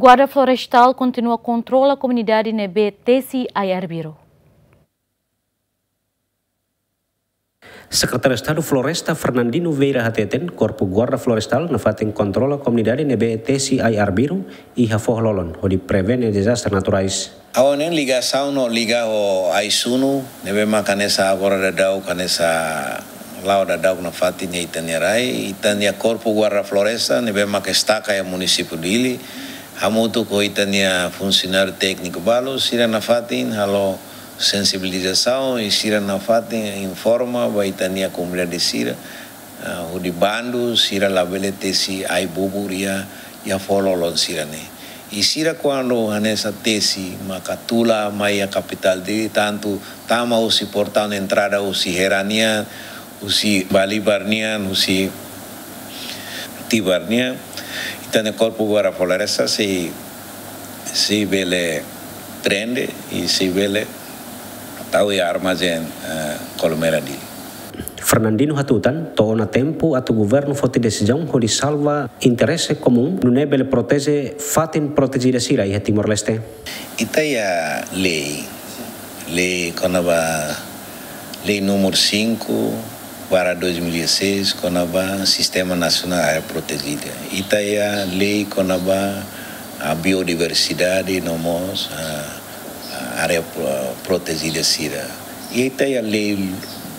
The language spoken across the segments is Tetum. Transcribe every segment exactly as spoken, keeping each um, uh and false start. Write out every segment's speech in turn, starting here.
Guarda Florestál kontinua kontrola komunidade ne'ebé tesi ai arbiru. Sekretáriu Estadu Floresta Fernandino Vieira hateten, Korpu Guarda Florestál nafatin kontrola komunidade ne'ebé tesi ai arbiru i hafoho lolon hodi prevene dezastre naturais. Agora ne'e ligasaun no liga ho ai-sunu, ne'ebé maka hanesan agora daudaun, hanesan la'o daudaun nafatin iha ita-nia rai, ita-nia Korpu Guarda Floresta, ne'ebé maka estaka iha munisípiu Dili, hamutuk ho ita-nia funsionáriu tékniku balu, sira nafatin halo sensibilizasaun i sira nafatin informa ba ita-nia komunidade sira, ah, hodi bandu sira labele tesi ai bubur iha, iha foho lolon sira-ne'e. I sira kuandu hanesan tesi maka tula mai iha kapitál Dili, tantu tama husi portaun entrada husi Hera nian, husi Balibar nian, husi Tibar nian, ita-nia Korpu Guarda Floresta sei, sei bele prende i sei bele tau iha armazén, eh, Kolmera Dili. Fernandino hatutan, to'o ona tempu atu governu foti desizaun hodi salva interese komún, nune'e bele proteje fatin protejida sira iha Timor-Leste. Ita iha lei, lei kona-ba lei númeru cinco barra dois mil e dezasseis, kona-ba Sistema Nasionál Área Protejida. Ita iha lei kona-ba, ah, biodiversidade no mós, ah, ah, área pro-, protejida sira. I ita iha lei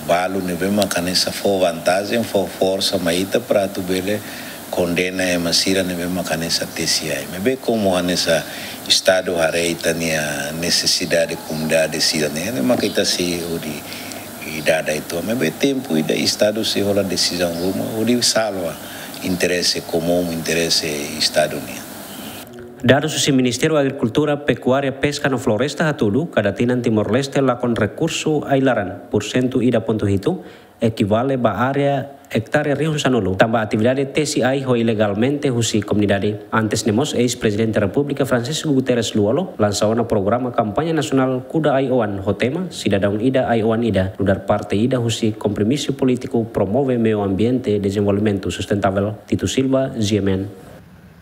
balu ne'ebé maka hanesan fó vantajen, fó forsa mai ita para atu bele kondena ema sira ne'ebé maka hanesan tesi ai. Maibé komu hanesan Estadu haree ita-nia nesesidade komunidade sira-ne'e, ne'e maka ita sei hodi dada uitoan. Maibé tempu ida Estadu sei hola desizaun ruma hodi salva interese komún, interese Estadu nian. Dadus husi Ministériu Agrikultura, Pekuária, Peska no Floresta hatudu, kada tinan Timor-Leste lakon rekursu ai-laran, pursentu ida pontu hitu, ekivale ba área ektare rihun sanulu, tanba atividade tesi ai ho ilegalmente husi komunidade. Antes ne'e mós, eis-Prezidente Repúblika Francisco Guterres Lú-Olo lansa ona programa kampaña nasionál Kuda Ai-Oan ho tema Sidadaun Ida Ai-Oan Ida, nu'udar parte ida husi kompromisu polítiku promove meiu ambiente dezenvolvimentu sustentavel. Tito Silva, G M N.